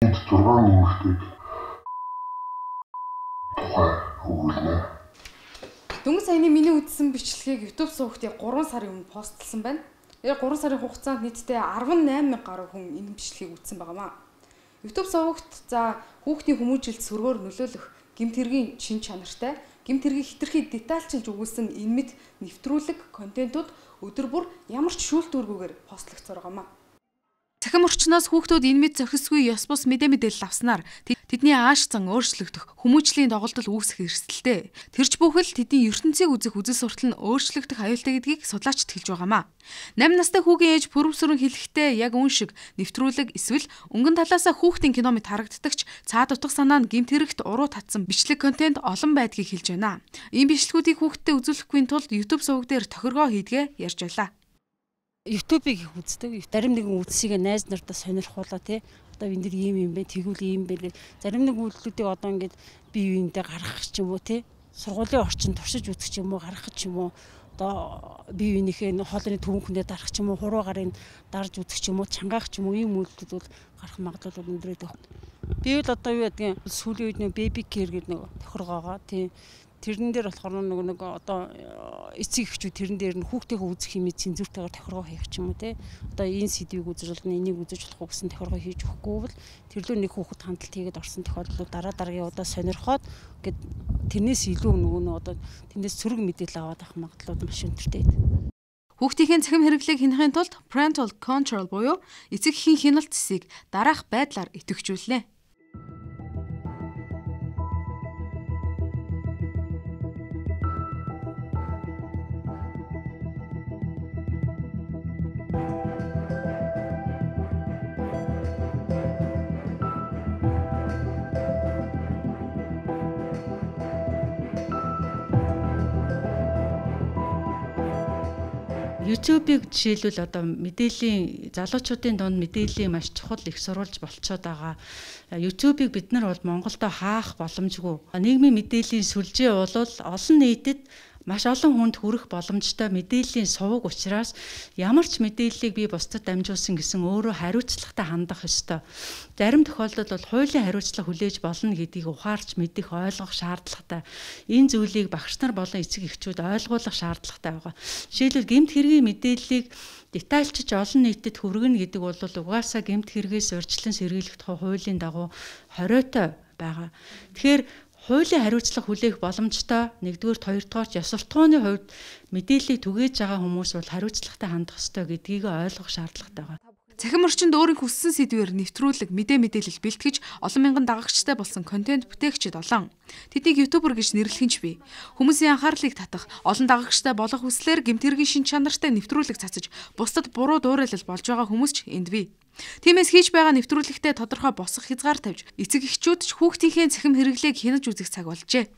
6 нэмэгтэйг тухай өгүүлнэ. Дөнгөж саяны миний үзсэн бичлэгийг YouTube суугчдыг 3 сарын өмнө постлсан байна. 3 сарын хугацаанд нийтдээ 18,000 гаруй хүн энэ бичлэгийг үзсэн байнамаа. YouTube суугчд за хүүхдийн хүмүүжил сөргөөр нөлөөлөх гэмт хэргийн шин чанартай, гэмт хэргийг хэтэрхий детальчилж өгүүлсэн энэ мэд нэвтрүүлэг контентууд өдөр бүр ямар ч шүүлтүүргүйгээр постлогдсоор байнамаа. Цахим орчноос хүүхдүүд энэ мэд зохисгүй ёс бус мэдээлэл авснаар тэдний ааш зан өөрчлөгдөх, хүмүүжлийн доголдол үүсэх эрсдэлтэй. Тэрч бүхэл тэдний ертөнцийг үзэх үзэл суртал нь өөрчлөгдөх аюултай гэдгийг судлаачид хэлж байгаамаа. 8 настай хүүгийн ээж пүрэвсрэн хэлэхдээ яг үн шиг нэвтрүүлэг эсвэл өнгөн талаасаа хүүхдийн кино мэт харагддагч цаад утга санаа нь гэмт хэрэгт уруу татсан бичлэг контент олон байдгийг хэлж байна. Ийм бичлэгүүдийг хүүхдэд үзүүлэхгүй тулд YouTube суваг дээр тохиргоо хийдгээ ярьж байлаа. YouTube-ыг их үздэг. Зарим нэгэн үзсийг найз нартаа сонирхуулаа тий. Одоо энэ дэр ийм юм бэ, тэгвэл ийм бэ. Зарим нэг үйлдэлүүдийг одоо ингээд бие биендээ гаргах ч юм уу тий. Сургуулийн орчинд туршиж үзэх ч юм уу, гаргах ч юм уу. Одоо бие биенийхээ хоолны төвөнхөндөө дарах ч юм уу, хуруу гарын дарж үзэх ч юм уу, чангаах ч юм уу ийм үйлдэлүүд бол гарах магадлал өндөрөйд байна. Би бол одоо юу гэдгийг сүүлийн үед нэг baby care гэдэг нэг тохиргоогоо тий. Тэрэн дээр болохоор нэг одоо эцэг эхчүүд тэрэн дээр нь хүүхдийнхээ үзэх хэмээн цензуртайгаар тохиргоо хийх ч юм уу те. Одоо энэ сэдвийг үзэж болно, энийг үзэж болохгүй гэсэн тохиргоо хийж өгөхгүй бол тэрлөө нэг хүүхэд хандлт хийгээд орсон тохиолдлууд дараагийн удаа сонирхоод гээд тэрнээс илүү нөгөө одоо тэндээс сөрөг мэдээлэл аваад авах магадлал маш өнтертэй байдаг. Хүүхдийн цахим хэрэглээг хянахын тулд parental control буюу эцэг эхийн хяналт зэсийг дараах байдлаар идэвхжүүлнэ. YouTube-ыг жишээлбэл одоо мэдээллийн залуучуудын дунд мэдээллийн маш чухал их сурвалж болцоод байгаа. YouTube-ыг бид нар бол Монголдо хаах боломжгүй. Нийгмийн мэдээллийн сүлжээ бол олон нийтэд маш олон хүнд хүрэх боломжтой мэдээллийн суваг учраас ямар ч мэдээллийг би бусдад дамжуулсан гэсэн өөрөө хариуцлагатай хандах ёстой. Зарим тохиолдолд бол хуулийн хариуцлага хүлээж болно гэдгийг ухаарч мэдэх ойлгох шаардлагатай. Энэ зүйлийг багш нар болон эцэг эхчүүд ойлгуулах шаардлагатай байгаа. Жишээлбэл гэмт хэргийн мэдээллийг детальчиж олон нийтэд хүргэнэ гэдэг бол угаасаа гэмт хэрэгээс урьдчилан сэргийлэх тухай хуулийн дагуу хориотой байгаа. Тэгэхээр хуулийн хариуцлага хүлээх боломжтой нэгдүгээр хоёрдугаар ёс суртахууны хувьд мэдээллийг түгээж байгаа хүмүүс бол хариуцлагатай хандах ёстой гэдгийг ойлгох шаардлагатай байна. Цахим орчинд өөрийн хүссэн сэдвээр нэвтрүүлэг мэдээлэл бэлтгэж олон мянган дагагчтай болсон контент бүтээгчид олон. Тэднийг ютубер гэж нэрлэх нь ч бий. Хүмүүсийн анхаарлыг татах, олон дагагчтай болох хүслээр гэмт хэргийн шин чанартай нэвтрүүлэг цацаж, бусдад буруу дуурайлал болж байгаа хүмүүс ч энд бий. Тиймээс хийж байгаа нэвтрүүлэгтээ тодорхой босох хязгаар тавьж, эцэг эхчүүд ч хүүхдийнхээ цахим хэрэглээг хянаж үзэх цаг болжээ.